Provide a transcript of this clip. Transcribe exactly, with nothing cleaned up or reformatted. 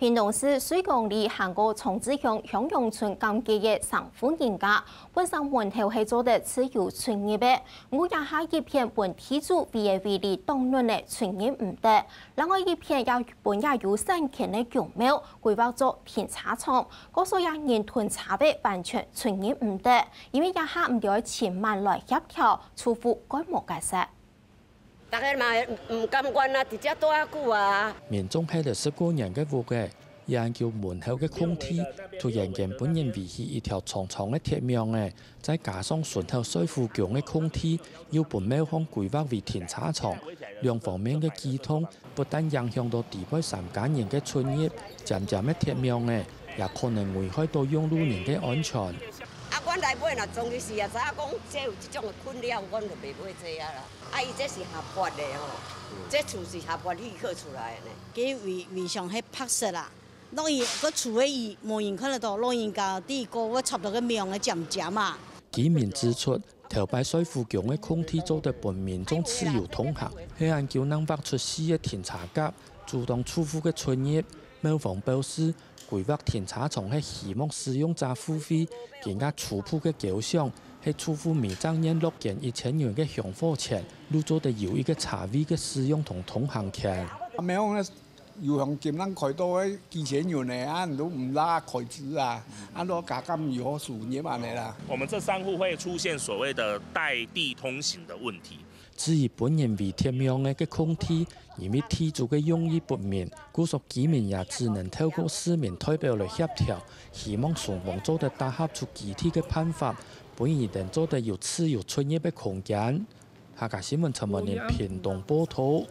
屏東市瑞光里行過長治鄉向陽村監界个三戶人家，本身門頭係做得自由出入个，毋過這下一片分地主委个位置擋等了出入毋得，另外一片也分也有三間个公廟規劃做停車場，故所也人同車位完全出入毋得，因為這下毋知愛尋麼人來協調，住戶該無解釋。 大家嘛毋甘願啊，佇遮蹛遐久啊。民眾歇了十過年个屋仔，研究門口个空地，突然間分人圍起一條長長个鐵網仔，再加上順口瑞富宮个空地，又分廟方規劃為停車場，兩方面个溝通，不但影響到底背三家人个出入，尖尖个鐵網仔，也可能危害到用路人个安全。啊，阮來買啦，總是也知影講，這有這種个困擾，阮就袂買這啊啦。 啊，伊這是合法的吼，這厝是合法許可出來的呢。佢圍，圍牆係白色啦，落雨，个厝个雨無人看得到，老人家佇過會插到个網个尖尖啊。居民指出，頭擺瑞富宮个空地做得分民眾自由通行，係恁久正劃出四个停車格，阻擋住戶个出入。廟方表示， 規劃停車場係希望使用者付費，更加初步个構想係住戶每隻月落捐一千元个香火錢，就做得有一个車位个使用同通行權。啊，廟方个有向金人開刀个幾千元呢，啊，你都毋拉開支啊，啊，都加減有好收入安尼啦。我們這三戶會出現所謂的帶地通行的問題。 至於分人圍鐵網个空地，因為地主个用意不明，故所居民也只能透過市民代表來協調，希望雙方做得打合出具體个辦法，分佢等做得有自由出入个空間。客家新聞陳文林屏東報導。